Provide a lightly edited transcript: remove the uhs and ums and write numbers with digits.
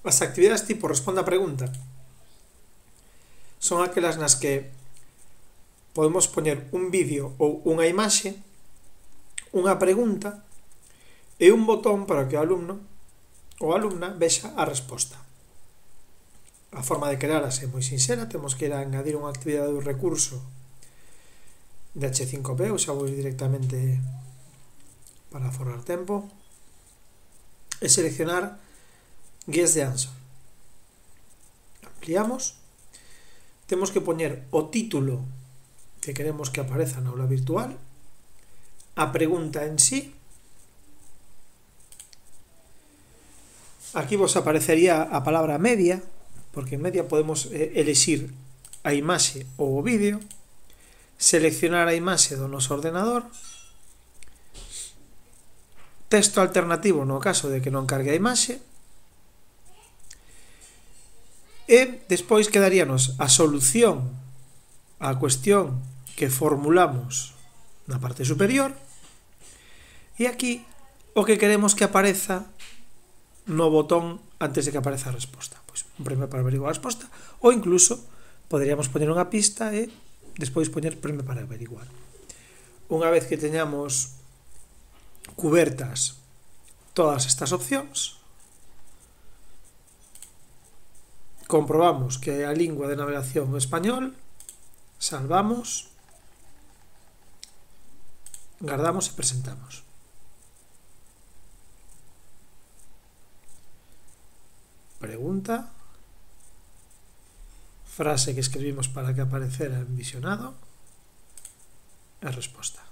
As actividades tipo responda a pregunta son aquelas nas que podemos poñer un vídeo ou unha imaxe, unha pregunta e un botón para que o alumno ou alumna vexa a resposta. A forma de crearlas é moi sinxela, temos que ir a engadir unha actividade do recurso de H5P, ou xa vou directamente para forrar tempo, e seleccionar Guess the Answer. Ampliamos, temos que poñer o título que queremos que apareza na aula virtual, a pregunta en sí. Aquí vos aparecería a palabra media, porque en media podemos elixir a imaxe ou o vídeo, seleccionar a imaxe do noso ordenador, texto alternativo no caso de que non cargue a imaxe, e despois quedaríanos a solución á cuestión que formulamos na parte superior, e aquí o que queremos que apareza no botón antes de que apareza a resposta. Pois un premio para averiguar a resposta, ou incluso poderíamos poñer unha pista e despois poñer premio para averiguar. Unha vez que teñamos cubertas todas estas opcións, comprobamos que a lingua de navegación é español, salvamos, guardamos e presentamos. Pregunta, frase que escribimos para que aparecera en visionado e resposta.